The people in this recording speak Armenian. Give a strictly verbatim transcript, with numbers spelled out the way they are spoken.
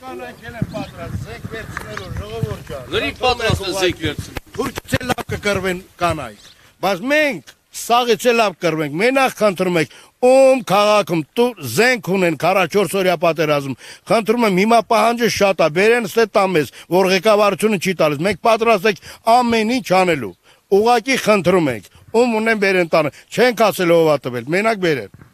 կանայք են պատրաստ, զենք վերցնելու ժողովուրդ ջան։ Լրիվ պատրաստ են զենք վերցնել։ Թուրքից էլ լավ կկրվեն կանայք, բայց մենք սաղից էլ լավ կրվենք, մենակ խնդրում ենք, ում քաղաքում զենք ունեն քառաչորս օրյա պատերազմ, խնդրում եմ հիմա պահանջը շատ է, բերեն ստե տամես, որ ղեկավարությունը չի տալիս, մենք պատրաստ ենք ամեն ինչ անելու, ուղղակի խնդրում ենք, ում ունեն բերեն տանը, չենք ասել ով ա տվել, մենակ բերեն։